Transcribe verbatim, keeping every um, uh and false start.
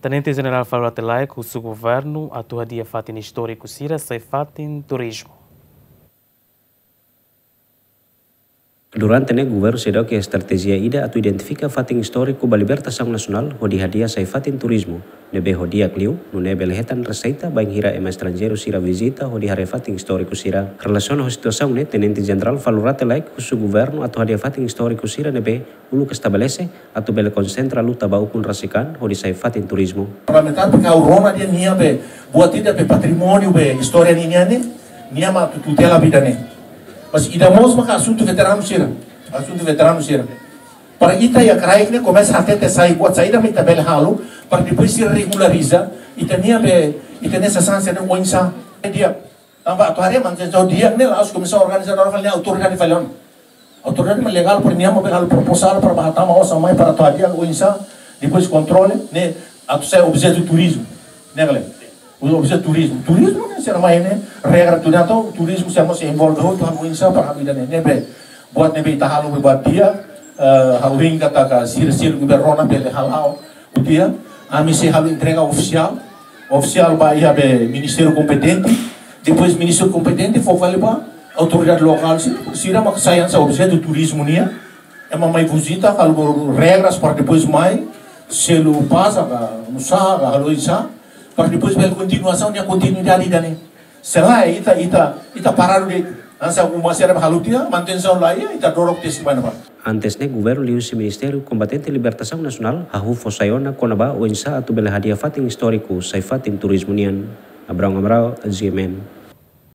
Tenente Jenerál Falurate Laek husu governu atu hadi'a fatin istóriku sira sai fatin turizmu. Durante ne'e governu seidauk iha estratéjia ida atu identifika fatin istóriku ba libertasaun nasionál hodi hadi'a sai fatin turizmu, ne'ebé ho di'ak liu, nune'e bele hetan reseita bainhira ema estranjeiru sira vizita hodi haree fatin istóriku sira. Relasiona ho situasaun ne'e, Tenente Jenerál Falurate Laek husu governu atu hadi'a fatin istóriku sira ne'ebé uluk estabelese atu bele konsentra luta ba ukun rasik an hodi sai fatin turizmu. Fundamentál, porque ha'u rona dehan nia be buat ida be patrimóniu be istória ninian ne'e, nia mak atu tutela ba ida-ne'e. Mas ida mós maka asuntu veteranu sira, asuntu veteranu sira. Para ita iha kraik ne'e komesa hatete sai buat saida mak ita bele halo, para depois sira regulariza ita-nia be, ita-nia sasán sira-ne'e oinsá. Di'ak, tanba atu haree manutensaun di'ak ne'e la'ós komisaun organizadora fali, ne'e autoridade fali ona. Autoridade mak legál para nia mak bele halo proposál para bá hatama osan mai para atu hadi'a oinsá, depois kontrola ne'e atu sai objetu turizmu. Ne'e ka lae? Objetu turizmu. Turizmu ne'e sira mai ne'e regra tudu, entaun turizmu sira mós envolve hotu, halo oinsá para halo ida-ne'e, ne'ebé buat ne'ebé ita halo be buat di'ak, eh, ha'u hein katak sira seluk ne'ebé rona bele hala'o. Di'ak, ami sei halo entrega ofisiál, ofisiál ba iha be ministériu kompetente, depois ministériu kompetente fó fali ba autoridade lokál sira, sira mak sai hanesan objetu turizmu nian. Ema mai vizita, halo regras para depois mai, selu pasa ka nusá ka halo oinsá, para depois bele kontinuasaun, nia kontinuidade ida-ne'e. Se lae, ita, ita, ita paradu de'it. Hanesan uma sira halo tiha, manutensaun laiha, ita dorok tesi ba ne'ebá. Antes ne'e, governu liuhusi Ministériu Kombatente Libertasaun Nasionál hahú fó sai ona kona-ba oinsá atu bele hadi'a fatin istóriku sai fatin turizmu nian. Abraão Amaral, G M N.